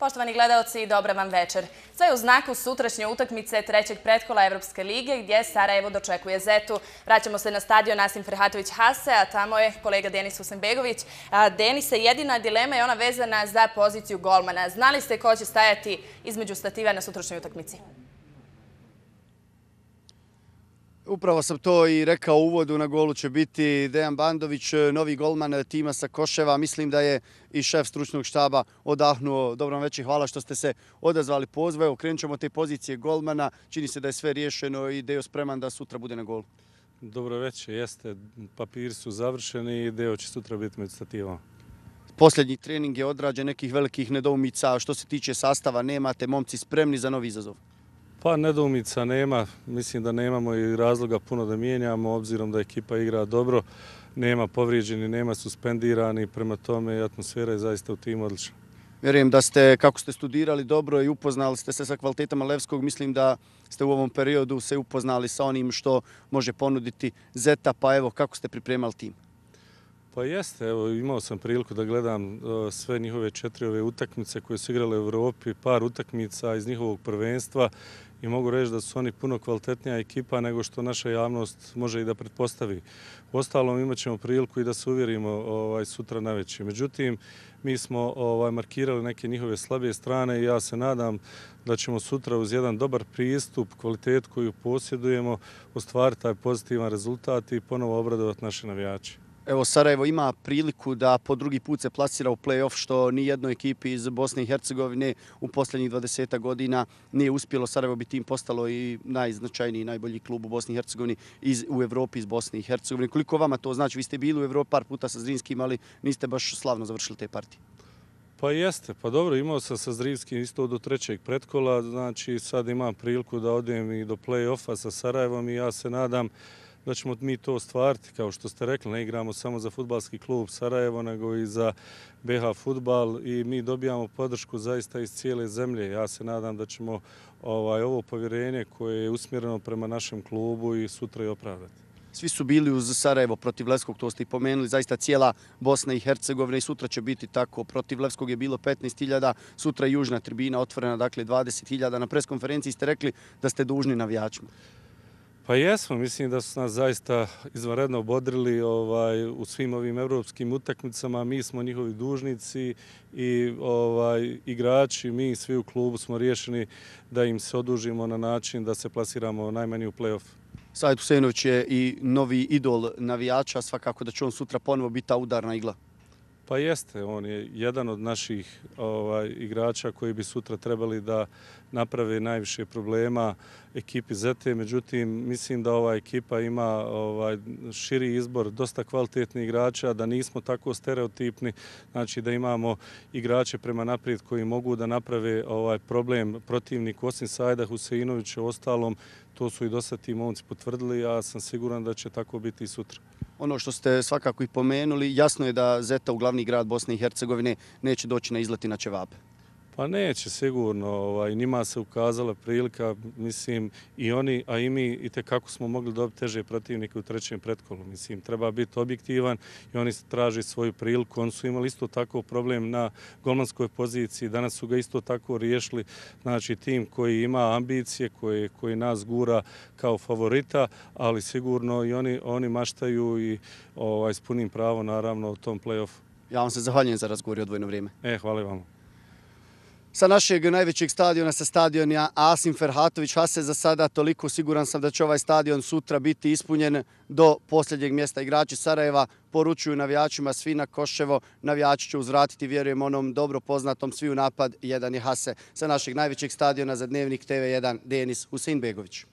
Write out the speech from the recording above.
Poštovani gledaoci, dobra vam večer. Sve je u znaku sutrašnje utakmice trećeg pretkola Evropske lige gdje Sarajevo dočekuje Zetu. Vraćamo se na stadion Asim Ferhatović Hase, a tamo je kolega Denis Husenbegović. Denise, jedina dilema je ona vezana za poziciju golmana. Znali ste ko će stajati između stativa na sutrašnjoj utakmici? Upravo sam to i rekao u uvodu, na golu će biti Dejan Bandović, novi golman tima sa Koševa. Mislim da je i šef stručnog štaba odahnuo. Dobro vam večer, hvala što ste se odazvali pozivu. Evo, krenut ćemo te pozicije golmana. Čini se da je sve riješeno i Deo spreman da sutra bude na golu. Dobro večer, jeste. Papiri su završeni i Deo će sutra biti među stativom. Posljednji trening je odrađen, nekih velikih nedoumica. Što se tiče sastava, nemate momci spremni za novi izazov? Pa nedoumica nema, mislim da nemamo i razloga puno da mijenjamo, obzirom da ekipa igra dobro, nema povrijeđeni, nema suspendirani, prema tome atmosfera je zaista u timu odlična. Vjerujem da ste, kako ste studirali dobro i upoznali ste se sa kvalitetama Levskog, mislim da ste u ovom periodu se upoznali sa onim što može ponuditi Zeta, pa evo, kako ste pripremali tim? Pa jeste, evo, imao sam priliku da gledam sve njihove 4 utakmice koje su igrale u Evropi, par utakmica iz njihovog prvenstva i mogu reći da su oni puno kvalitetnija ekipa nego što naša javnost može i da pretpostavi. Uostalom imat ćemo priliku i da se uvjerimo sutra navečer. Međutim, mi smo markirali neke njihove slabije strane i ja se nadam da ćemo sutra uz jedan dobar pristup, kvalitetu koju posjedujemo, ostvariti taj pozitivan rezultat i ponovo obradovati naše navijače. Evo, Sarajevo ima priliku da po drugi put se plasira u play-off, što ni jednoj ekipi iz Bosne i Hercegovine u posljednjih 20 godina nije uspjelo. Sarajevo bi tim postalo i najznačajniji, najbolji klub u Bosni i Hercegovini u Evropi iz Bosne i Hercegovine. Koliko vama to znači? Vi ste bili u Evropi par puta sa Zrinskim, ali niste baš slavno završili te partije. Pa jeste, pa dobro, imao sam sa Zrinskim isto do trećeg pretkola, znači sad imam priliku da odem i do play-offa sa Sarajevom i ja se nadam da ćemo mi to ostvariti. Kao što ste rekli, ne igramo samo za fudbalski klub Sarajevo, nego i za BH Fudbal i mi dobijamo podršku zaista iz cijele zemlje. Ja se nadam da ćemo ovo povjerenje koje je usmjereno prema našem klubu i sutra i opravdati. Svi su bili uz Sarajevo protiv Levskog, to ste i pomenuli, zaista cijela Bosna i Hercegovina i sutra će biti tako. Protiv Levskog je bilo 15.000, sutra je južna tribina otvorena, dakle 20.000. Na preskonferenciji ste rekli da ste dužni navijačima. Pa jesmo, mislim da su nas zaista izvanredno obodrili u svim ovim evropskim utakmicama. Mi smo njihovi dužnici i igrači, mi svi u klubu smo riješeni da im se odužimo na način da se plasiramo najmanje u play-off. Sajid Husenović je i novi idol navijača, svakako da će on sutra ponovo biti ta udarna igla. Pa jeste, on je jedan od naših igrača koji bi sutra trebali da naprave najviše problema ekipi Zete. Međutim, mislim da ova ekipa ima širi izbor, dosta kvalitetnih igrača, da nismo tako stereotipni, znači da imamo igrače prema naprijed koji mogu da naprave problem protivniku, osim Sajida Huseinovića. Ostalom, to su i dosta ti momci potvrdili, ja sam siguran da će tako biti i sutra. Ono što ste svakako i pomenuli, jasno je da Zeta u glavni grad Bosne i Hercegovine neće doći na izleti na ćevape. Pa neće, sigurno. Njima se ukazala prilika, mislim, i oni, a i mi, i tekako smo mogli dobiti teže protivnike u trećem pretkolu. Mislim, treba biti objektivan i oni traži svoju priliku. Oni su imali isto tako problem na golmanskoj poziciji, danas su ga isto tako riješili. Znači, tim koji ima ambicije, koji nas gura kao favorita, ali sigurno i oni maštaju i s punim pravom, naravno, u tom play-offu. Ja vam se zahvaljujem za razgovor i odvojeno vrijeme. Hvala vam. Sa našeg najvećeg stadiona, sa stadiona Asim Ferhatović Hase, za sada toliko. Siguran sam da će ovaj stadion sutra biti ispunjen do posljednjeg mjesta. Igrači Sarajeva poručuju navijačima svi na Koševo. Navijači će uzvratiti, vjerujem, onom dobro poznatom svi u napad, jedan je Hase. Sa našeg najvećeg stadiona za Dnevnik TV1, Denis Husenbegović.